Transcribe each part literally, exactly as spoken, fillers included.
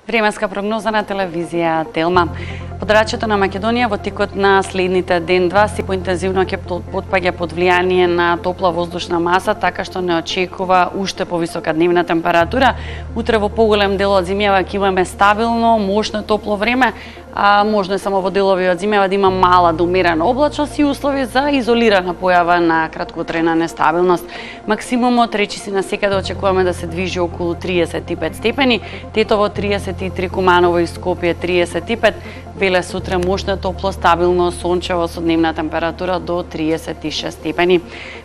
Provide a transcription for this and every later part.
Временска прогноза на телевизија Телма. Подрачјето на Македонија во текот на следните ден-два си поинтензивно ќе потпаѓа под влијание на топла воздушна маса, така што не очекува уште повисока дневна температура. Утре во поголем дел од зимјава ќе имаме стабилно, мощно топло време, а можно е само во делови од зимјава да има мала до умерена облачност и услови за изолирана појава на краткотрајна нестабилност. Максимумот речиси на секаде очекуваме да се движи околу триесет и пет степени, Тетово триесет и три, Куманово и Скопје триесет и пет, Веле сутре мощно топло, стабилно, сончево со дневна температура до триесет и шест степени.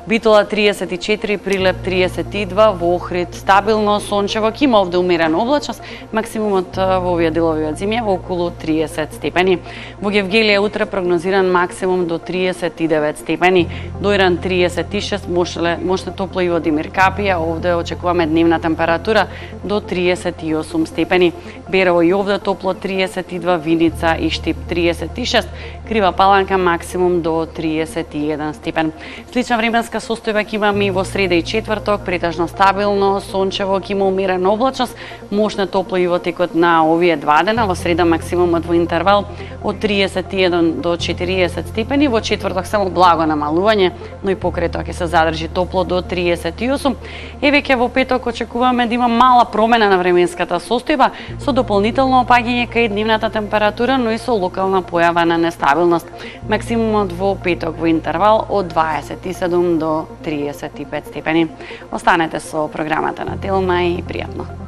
Битола триесет и четири, Прилеп триесет и два, во Охрид стабилно, сончево, ќе има овде умерена облачност, максимумот во овие делови од зимја во околу триесет степени. Во Гевгелија утре прогнозиран максимум до триесет и девет степени, Дојран триесет и шест, мощно топло и во Димир Капија, овде очекуваме дневна температура до триесет и осум степени. Берово и овде топло триесет и два, Виница и Штип триесет и шест, Крива Паланка максимум до триесет и еден степен. Слична временска состојба ќе имаме и во среда и четврток, претежно стабилно, сончево, ќе има умерена облачност, мощно топло и во текот на овие два дена, во среда максимумот во интервал од триесет и еден до четириесет степени, во четврток само благо намалување, но и покрај тоа ќе се задржи топло до триесет и осум. Е веќе во петок очекуваме да има мала промена на временската состојба со дополнително опаѓање кај дневната температура, но и со локална појава на нестабилност. Максимумот во петок во интервал од дваесет и седум до триесет и пет степени. Останете со програмата на Телма и пријатно.